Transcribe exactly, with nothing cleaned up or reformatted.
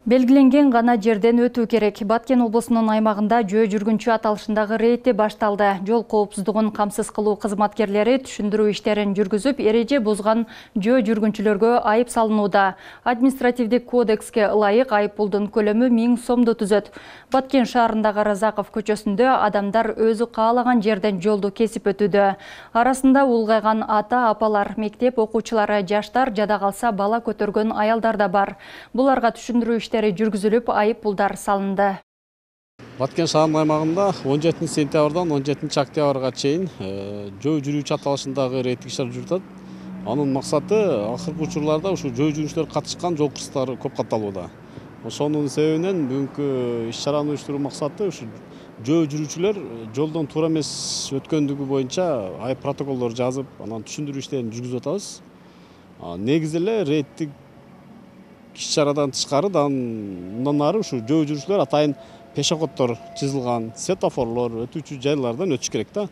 Белгиленген гана жерден өтүү керек. Баткен облусунун аймагында жөө жүргүнчү аталышындагы рейд башталды. Жол коопсуздугун камсыз кылуу кызматкерлери түшүндүрүү иштерин жүргүзүп, эреже бузган жөө жүргүнчүлөргө айып салынууда. Административдик кодекске ылайык айыппулдун көлөмү миң сомду түзөт. Баткен шаарындагы Разаков көчөсүндө адамдар өзү каалаган жерден жолду кесип өтүүдө. Арасында улгайган ата-апалар, мектеп окуучулары, жаштар, жада калса бала көтөргөн аялдар да бар. Буларга түшүндүрүү иштери жүргүзүлүп, айып пулдар салынды. Баткен шаарынын аймагында он жетинчи сентябрдан он жетинчи октябрга чейин жөө жүрүүчү аталышындагы рейдтик иш-чара жүрүп атат. Анын максаты акыркы учурларда ушу жөө жүрүүчүлөр катышкан жол кырсыктары көп катталууда. Ошонун себебинен бүгүнкү иш-чараны уюштуруу максаты ушу жөө жүрүүчүлөр жолдон туура эмес өткөндүгү боюнча айып протоколдор жазып, анан түшүндүрүү иштерин жүргүзүп атабыз. Негизи эле рейдтик иш-чарадан тышкары мындан ары ушу жөө жүрүүчүлөр атайын пешеходдор чызылган светофорлор, өтүүчү жайлардан өтүш керек да.